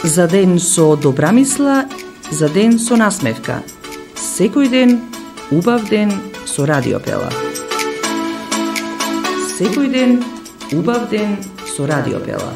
За ден со добра мисла, за ден со насмевка. Секој ден, убав ден со Радио Пела. Секој ден, убав ден со Радио Пела.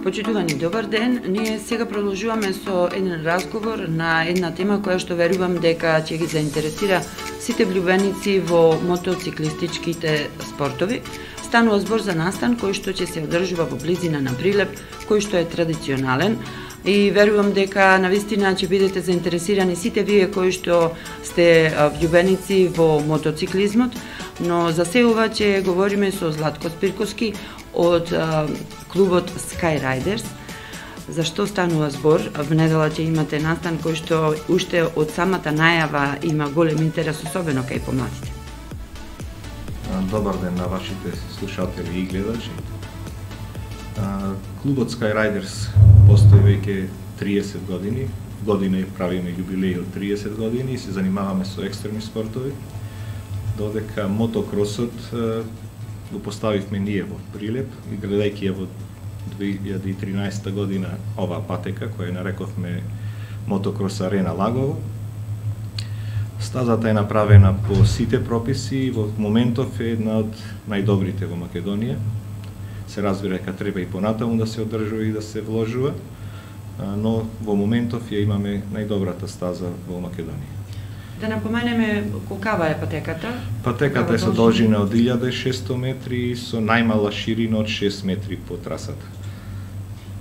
Почитувани, добар ден. Ние сега продолжуваме со еден разговор на една тема која што верувам дека ќе ги заинтересира сите влюбеници во мотоциклистичките спортови. Станува збор за настан кој што ќе се одржува во близина на Прилеп, кој што е традиционален и верувам дека навистина ќе бидете заинтересирани сите вие кои што сте влюбеници во мотоциклизмот, но за сега ќе говориме со Златко Спирковски од клубот Sky Riders. За што станува збор? В недела ќе имате настан кој што уште од самата најава има голем интерес, особено кај помладите. Добар ден на вашите слушатели и гледачи. Клубот Sky Riders постои веќе 30 години. Година правиме јубилеј од 30 години и се занимаваме со екстремни спортови. Додека мотокросот го поставивме ние во Прилеп и гледајќи ја во 2013 година оваа патека која нарековме Мотокрос Арена Лагово. Стазата е направена по сите прописи и во моментов е една од најдобрите во Македонија. Се разбира дека треба и понатаму да се одржува и да се вложува, но во моментов ја имаме најдобрата стаза во Македонија. Да напоменеме колкава е патеката? Патеката е со должина од 1600 метри и со најмала ширина од 6 метри по трасата.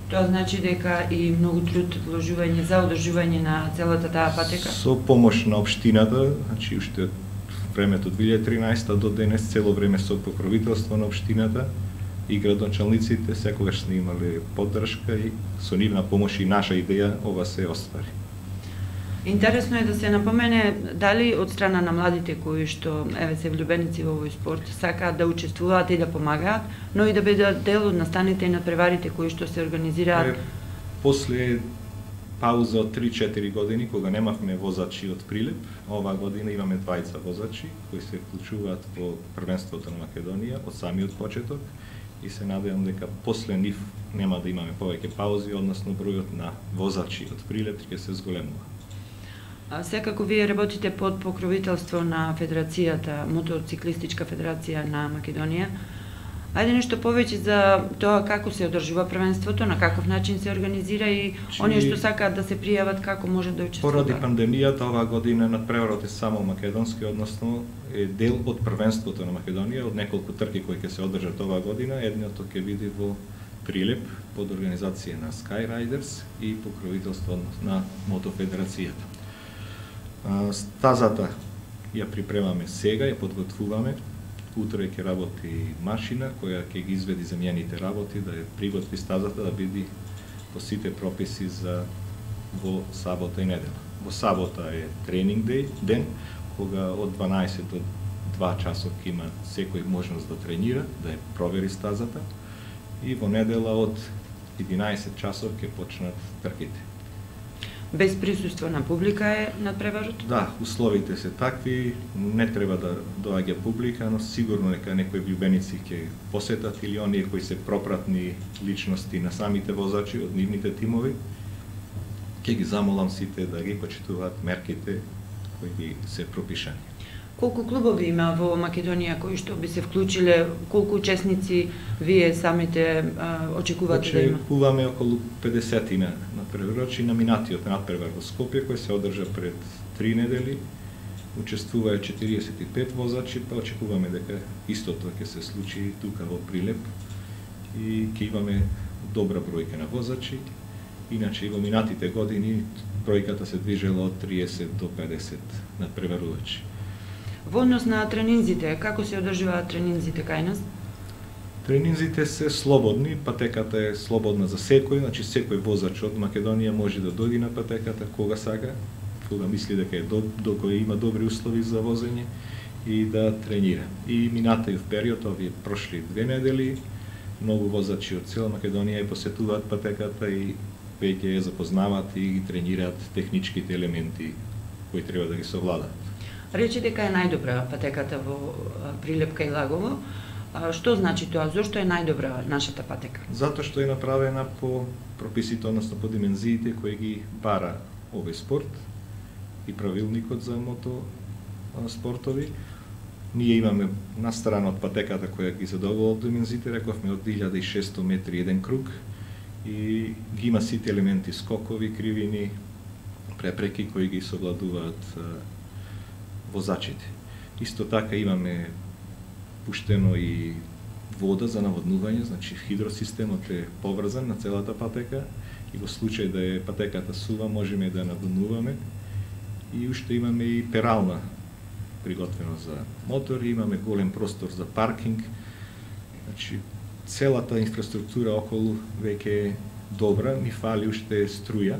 Тоа значи дека и многу труд вложување за одржување на целата таа патека? Со помош на општината, значи уште од времето 2013 до денес цело време со покровителство на општината и градоначалниците секогаш сме имале поддршка и со нивна помош и наша идеја ова се оствари. Интересно е да се напомене дали од страна на младите кои што се влюбеници во овој спорт сакаат да учествуваат и да помагаат, но и да бидат дел од настаните и надпреварите кои што се организираат. После пауза од 3-4 години кога немавме возачи од Прилеп, оваа година имаме двајца возачи кои се вклучуваат во првенството на Македонија од самиот почеток и се надевам дека после нив нема да имаме повеќе паузи, односно бројот на возачи од Прилеп ќе се зголемува. Секако вие работите под покровителство на Федерацијата, Мотоциклистичка федерација на Македонија. Ајде нешто повеќе за тоа како се одржува првенството, на каков начин се организира и оние што сакаат да се пријават како можат да учествуваат. Поради пандемијата оваа година надпреварот е само македонски, односно е дел од првенството на Македонија, од неколку трки кои ќе се одржат оваа година. Едното ќе биде во Прилеп под организација на Sky Riders и покровителство на Мотофедерацијата. Стазата ја припремаме сега, ја подготвуваме. Утре ќе работи машина која ќе ги изведи земјаните работи, да ја приготви стазата да биде по сите прописи за во сабота и недела. Во сабота е тренинг ден, кога од 12 до 2 часот има секој можност да тренира, да ја провери стазата и во недела од 11 часот ќе почнат трките. Без присуство на публика е надпреварот? Да, условите се такви, не треба да доаѓа публика, но сигурно дека некои влюбеници ќе посетат или оние кои се пропратни личности на самите возачи од нивните тимови. Ќе ги замолам сите да ги почитуваат мерките кои ги се пропишани. Колку клубови има во Македонија кои што би се вклучиле, колку учесници вие самите очекувате да има? Очекуваме околу 50 надпреварачи на минатиот надпревар во Скопје кој се одржа пред 3 недели. Учествуваа 45 возачи, па очекуваме дека истото ќе се случи тука во Прилеп и ќе имаме добра бројка на возачи. Иначе и во минатите години бројката се движела од 30 до 50 надпреварувачи. Во однос на тренинзите, како се одржуваат тренинзите кај нас? Тренинзите се слободни, патеката е слободна за секој, значи секој возач од Македонија може да дојде на патеката кога сака, кога мисли дека е кога има добри услови за возење и да тренира. И минатиот период, овие прошли 2 недели, многу возачи од цела Македонија ја посетуваат патеката и веќе ја запознаваат и ги тренираат техничките елементи кои треба да ги совладат. Речи дека е најдобра патеката во Прилеп кај Лагово. Што значи тоа? Зошто е најдобра нашата патека? Затоа што е направена по прописите, односно по димензиите кои ги бара овој спорт и правилникот за мотоспортови. Ние имаме на страна од патеката која ги задоволува димензиите, рековме од 1600 метри еден круг и ги има сите елементи, скокови, кривини, препреки кои ги совладуваат возачите. Исто така имаме пуштено и вода за наводнување, значи хидросистемот е поврзан на целата патека и во случај да е патеката сува можеме да наводнуваме и уште имаме и перална приготвено за мотори, имаме голем простор за паркинг, значи целата инфраструктура околу веќе е добра, ни фали уште струја,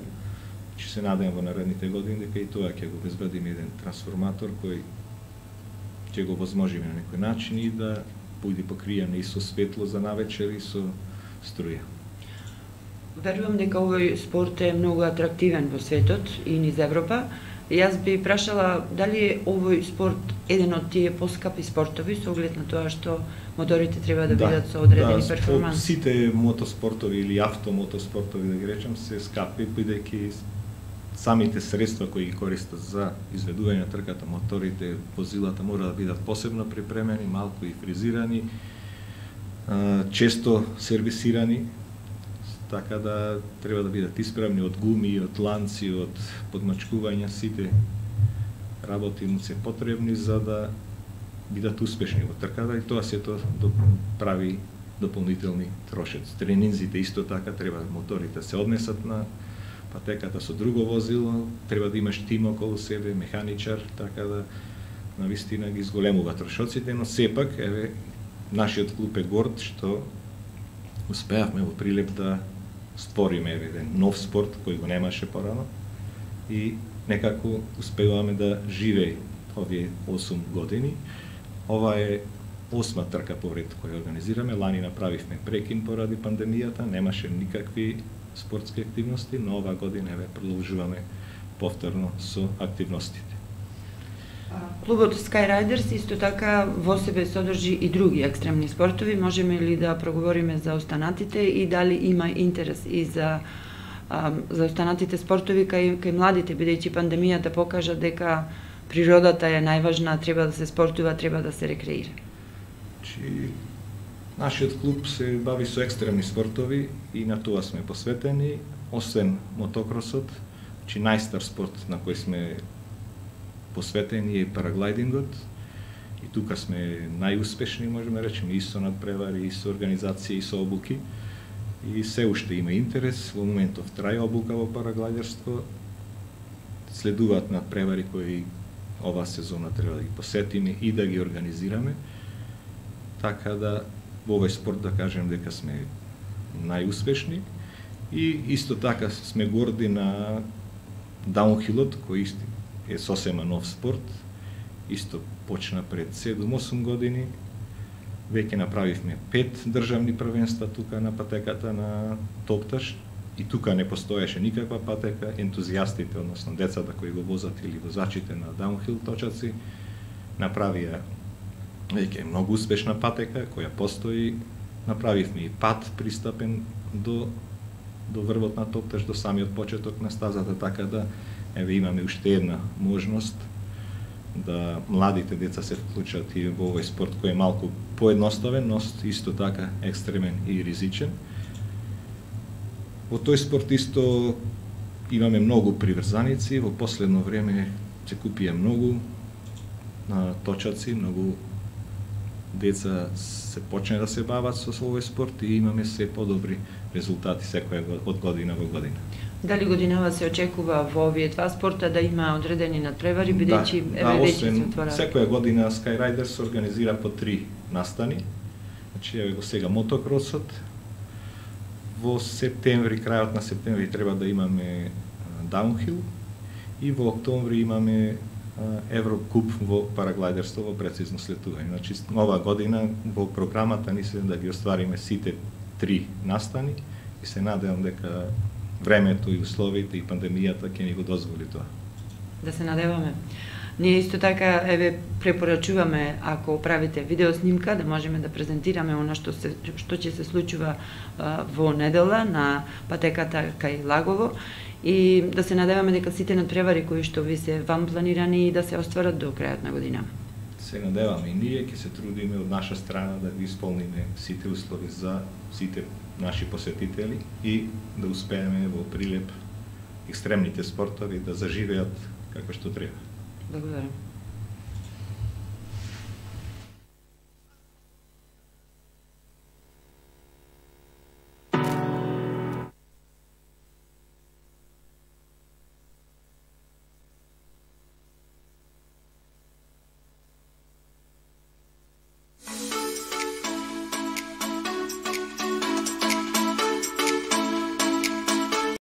че се надевам во наредните години дека и тоа ќе го обезбедиме еден трансформатор кој ќе го возможиме на некој начин и да биде покриен и со светло за навечер и со струја. Верувам дека овој спорт е многу атрактивен во светот и низ Европа. Јас би прашала дали е овој спорт еден од тие поскапи спортови со оглед на тоа што моторите треба да бидат со одредени перформанси. Сите мотоспортови или автомотоспортови, да ги речам, се скапи, бидејќи самите средства кои ги користат за изведување на трката, моторите, возилата мора да бидат посебно припремени, малку и фризирани, често сервисирани, така да треба да бидат исправни од гуми, од ланци, од подмачкувања, сите работи му се потребни за да бидат успешни во трката и тоа сето прави дополнителни трошоци. Тренинзите исто така треба моторите се однесат на патеката со друго возило, треба да имаш тим околу себе, механичар, така да навистина ги зголемува трошоците, но сепак, еве, нашиот клуб е горд што успеавме во Прилеп да створиме еден нов спорт кој го немаше порано и некако успеваме да живее овие 8 години. Ова е 8 трка поред која организираме. Лани направивме прекин поради пандемијата, немаше никакви спортски активности, но ова година еве продолжуваме повторно со активностите. Клубот Skyriders исто така во себе содржи и други екстремни спортови. Можеме ли да проговориме за останатите и дали има интерес и за останатите спортови кај младите, бидејќи пандемијата покажа дека природата е најважна, треба да се спортува, треба да се рекреира. Нашиот клуб се бави со екстремни спортови и на тоа сме посветени, освен мотокросот, најстар спорт на кој сме посветени е параглайдингот и тука сме најуспешни, можеме речеме, и со надпревари, и со организација, и со обуки. И се уште има интерес, во моментов трае обука во параглайдерство, следуваат надпревари кои ова сезона треба да ги посетиме и да ги организираме, така да во овој спорт да кажем дека сме најуспешни и исто така сме горди на даунхилот, кој е сосема нов спорт, исто почна пред 7-8 години, веќе направивме 5 државни првенства тука на патеката на топташ и тука не постоеше никаква патека, ентузијастите, односно децата кои го возат или возачите на даунхил точаци, направија веќе многу успешна патека која постои, направивме и пат пристапен до врвот на топташ, до самиот почеток на стазата, така да еве имаме уште една можност да младите деца се вклучат и во овој спорт кој е малку поедноставен, но исто така екстремен и ризичен. Во тој спорт исто имаме многу приврзаници, во последно време се купија многу точаци, многу деца се почне да се бават со овој спорт и имаме се подобри резултати секоја од година во година. Дали годинава се очекува во овие два спорта да има одредени надпревари, бидејќи веќе се отвораат? Секоја година Skyriders организира по 3 настани. Значи еве го сега мотокросот. Во септември, крајот на септември треба да имаме даунхил и во октомври имаме Еврокуп во параглайдерство во прецизно слетување. Значи ова година во програмата ни се да ги оствариме сите 3 настани и се надевам дека времето и условите и пандемијата ќе ни го дозволи тоа. Да се надеваме. Ние исто така препорачуваме, ако правите видеоснимка, да можеме да презентираме она што ќе се случува во недела на патеката кај Лагово и да се надеваме дека сите надпревари кои што ви се вам планирани да се остварат до крајот на година. Се надеваме и ние ќе се трудиме од наша страна да ги исполниме сите услови за сите наши посетители и да успееме во Прилеп екстремните спортови да заживеат како што треба. Благодарам.